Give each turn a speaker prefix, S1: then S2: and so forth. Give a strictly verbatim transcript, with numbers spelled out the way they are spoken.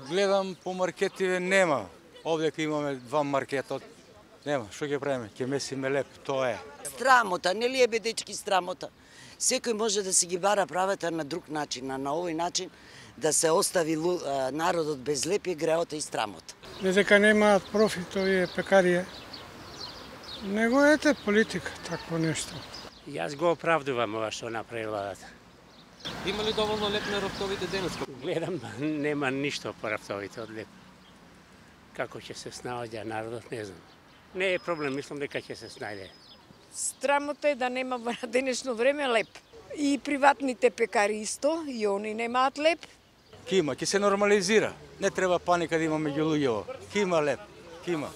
S1: Гледам по маркетиве нема. Овде имаме два маркета. Нема, што ќе правиме? Ќе месиме леп, тоа е.
S2: Страмота, нели е бе дечки страмота? Секој може да си ги бара правата на друг начин, а на овој начин да се остави народот без леп е греота и страмота.
S3: Не дека немаат профит овие пекарија, него ете политика, такво нешто.
S4: Јас го оправдувам ова што направи владата.
S5: Има ли доволно леп на рафтовите денес?
S4: Гледам, нема ништо по рафтовите од леп. Како ќе се снаоѓа народот, не знам. Не е проблем, мислам дека ќе се снајде.
S6: Страмота е да нема на денешно време леп. И приватните пекари исто, и они немаат леп.
S1: Ке има, ќе се нормализира. Не треба паника да има меѓу луѓето. Ке има леп, ке има.